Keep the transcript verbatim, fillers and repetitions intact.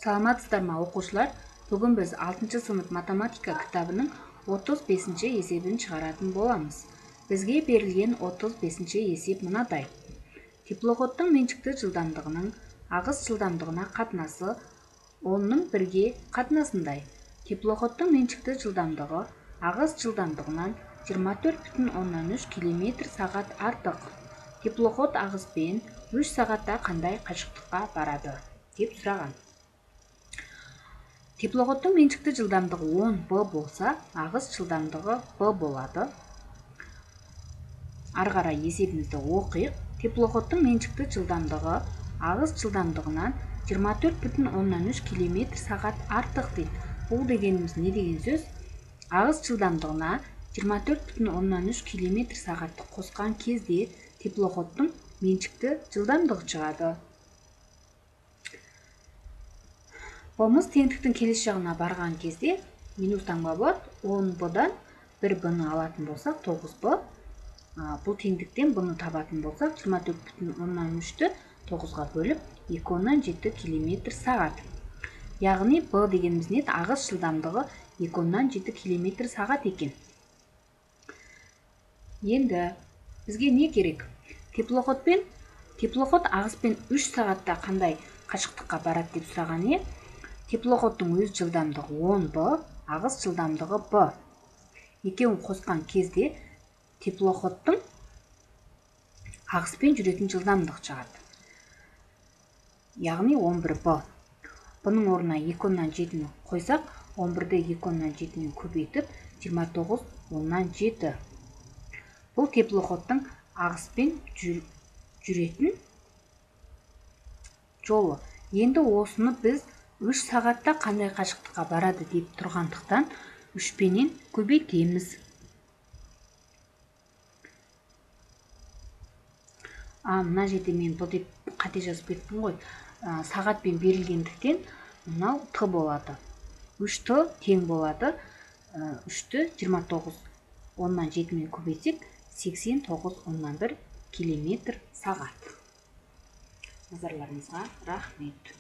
Саламатсыздарбы окуучулар? Бүгүн биз алтынчы сынып математика китабынын отуз бешинчи эсебин чыгаратын боламыз. Бизге берилген отуз бешинчи эсеп мындай. Теплоходдун менчиктүү жылдамдыгынын агыс жылдамдыгына катнасы ондун бирге катнасындай. Теплоходдун менчиктүү жылдамдыгы агыс жылдамдыгынан жыйырма төрт бүтүн ондон үч километр сагат артык. Теплоход агыспен үч сагатта кандай качыктыкка барады деп сураган. Теплоходдун менчиктүү жылдамдыгы он б болса, агыс жылдамдыгы b болот. Ары карай эсебибизди окуйк. Теплоходдун менчиктүү жылдамдыгы агыс жылдамдыгынан жыйырма төрт бүтүн ондон үч километр сагат артык дейт. Бул дегенибиз эмне деген сөз? Агыс жылдамдыгына жыйырма төрт бүтүн ондон үч километр сагатты коскон кезде теплоходдун менчиктүү жылдамдыгы чыгат. Б'мыз теңдиктин келиш жагына барган кезде минус таңба болот. он б'дан бир б'ны алатын болсак тогуз б. Бул теңдиктен б'ны табатын болсак жыйырма төрт бүтүн ондон үчтү тогузга бөлүп эки ондон жети километр сагат. Ягыни б дегенибиз эмне? Агыс жылдамдыгы эки ондон жети километр сагат экен. Энди бизге эмне керек? Теплоходпен теплоход агыспен үч сагатта кандай качыктыкка барат деп сураган э. Теплоходдун өз жылдамдыгы он б, агыс жылдамдыгы b. Экөөүн коскон кезде теплоходдун агыспен жүрөтүн жылдамдыгы чыгат. Ягыни он бир б. Бунун ордуна эки ондон жетини койсак, он бирди эки ондон жетини көбөйтүп жыйырма тогуз ондон жети. Бул теплоходдун агыспен жүрөтүн жолу. Энди осуну биз үч сагатта кандай качыктыкка барады деп тургандыктан үч менен көбөйтөбүз. А мына жерде мен бул деп кате жазып кеттим го. Сагатпен берилгендиктен мына т болот. үч т тең болот. үчтү жыйырма тогуз ондон жети менен көбөйтсек сексен тогуз ондон бир километр сагат. Назарларыңызга рахмет.